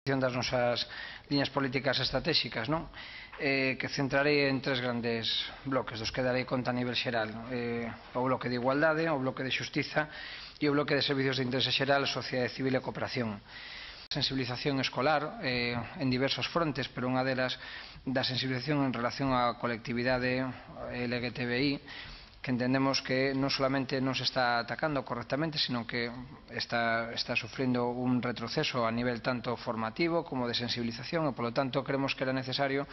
das nosas liñas políticas estratégicas, non? Que centrarei en tres grandes bloques, dos que darei conta a nivel xeral: o bloque de igualdade, o bloque de xustiza e o bloque de servicios de interese xeral, sociedade civil e cooperación. Sensibilización escolar en diversos frontes, pero unha delas da sensibilización en relación á colectividade LGTBI, que entendemos que non solamente non se está atacando correctamente, sino que está sufrindo un retroceso a nivel tanto formativo como de sensibilización, e, polo tanto, creemos que era necesario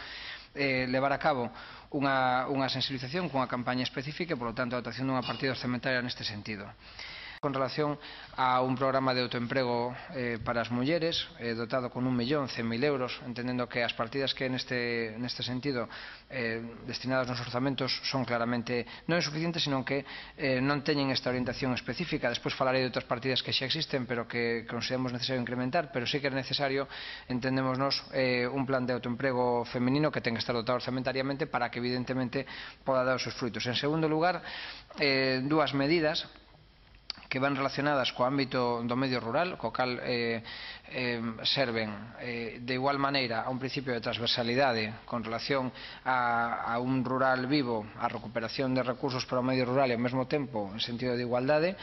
levar a cabo unha sensibilización cunha campaña específica e, polo tanto, a dotación dunha partida orzamentaria neste sentido. Con relación a un programa de autoemprego para as mulleres, dotado con 1.100.000 euros, entendendo que as partidas que neste sentido destinadas nos orzamentos son claramente non insuficientes, sino que non teñen esta orientación específica. Despois falarei de outras partidas que xa existen, pero que consideramos necesario incrementar, pero sí que é necesario, entendémonos, un plan de autoemprego feminino que ten que estar dotado orzamentariamente para que, evidentemente, poda dar os seus frutos. En segundo lugar, dúas medidas que van relacionadas co ámbito do medio rural, co cal serven de igual maneira a un principio de transversalidade con relación a un rural vivo, a recuperación de recursos para o medio rural e ao mesmo tempo en sentido de igualdade.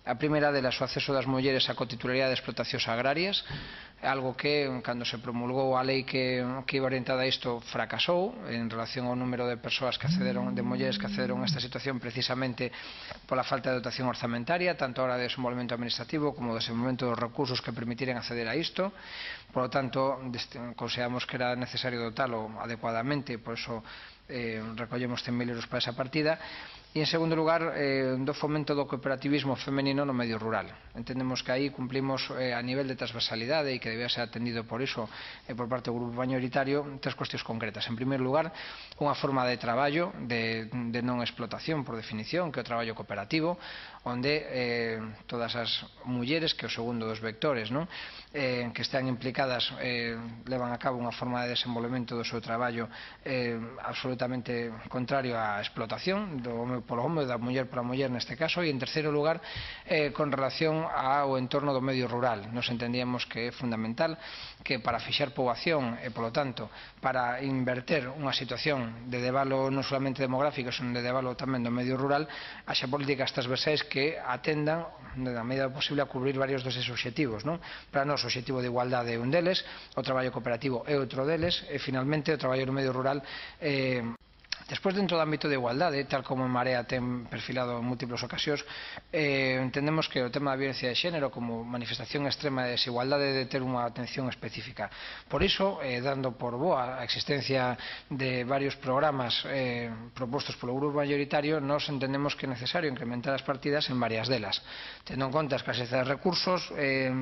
A primeira delas, o acceso das mulleres á cotitularidade de explotacións agrarias, algo que, cando se promulgou a lei que iba orientada a isto, fracasou en relación ao número de persoas que accederon, de mulleres que accederon a esta situación, precisamente pola falta de dotación orzamentaria, tanto a hora de desenvolvemento administrativo como de desenvolvemento dos recursos que permitiren acceder a isto. Por lo tanto, consideramos que era necesario dotalo adecuadamente, por iso recollemos 100.000 euros para esa partida. E, en segundo lugar, do fomento do cooperativismo femenino no medio rural. Entendemos que aí cumplimos a nivel de transversalidade e que debía ser atendido por iso por parte do grupo mayoritario tres cuestións concretas. En primeiro lugar, unha forma de traballo de non explotación, por definición, que é o traballo cooperativo, onde todas as mulleres, que é o segundo dos vectores, que están implicadas, levan a cabo unha forma de desenvolvemento do seu traballo absolutamente contrario á explotación do home polo home, da muller pola muller neste caso. E, en terceiro lugar, con relación ao entorno do medio rural, nos entendíamos que é fundamental que para fixar poboación e, polo tanto, para inverter unha situación de debalo non solamente demográfico, senón de debalo tamén do medio rural, haxa políticas transversais que atendan, na medida posible, a cubrir varios deses obxectivos. Para nós, o obxectivo de igualdade é un deles, o traballo cooperativo é outro deles, e, finalmente, o traballo no medio rural. Despois, dentro do ámbito de igualdade, tal como en Marea ten perfilado en múltiples ocasións, entendemos que o tema da violencia de xénero como manifestación extrema de desigualdade debe ter unha atención específica. Por iso, dando por boa a existencia de varios programas propostos polo grupo mayoritario, nós entendemos que é necesario incrementar as partidas en varias delas. Tendo en conta a escasez de recursos,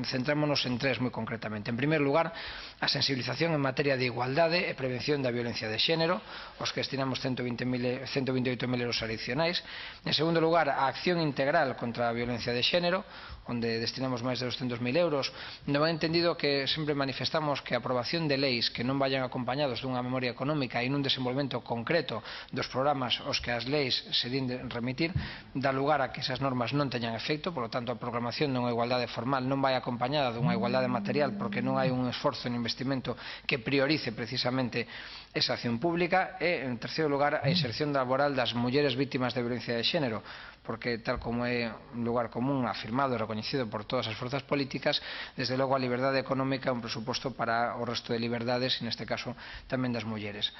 centrémonos en tres moi concretamente. En primeiro lugar, a sensibilización en materia de igualdade e prevención da violencia de xénero, os que destinamos 128.000 euros adicionais. En segundo lugar, a acción integral contra a violencia de xénero, onde destinamos máis de 200.000 euros, no ben entendido que sempre manifestamos que a aprobación de leis que non vayan acompañados dunha memoria económica e nun desenvolvemento concreto dos programas aos que as leis se din de remitir, dá lugar a que esas normas non teñan efecto. Por lo tanto, a proclamación dunha igualdade formal non vai acompañada dunha igualdade material, porque non hai un esforzo en investimento que priorice precisamente esa acción pública. E, en terceiro lugar, a inserción laboral das mulleres vítimas de violencia de xénero, porque, tal como é un lugar común afirmado e recoñecido por todas as forzas políticas, desde logo a liberdade económica é un presuposto para o resto de liberdades, e neste caso tamén das mulleres.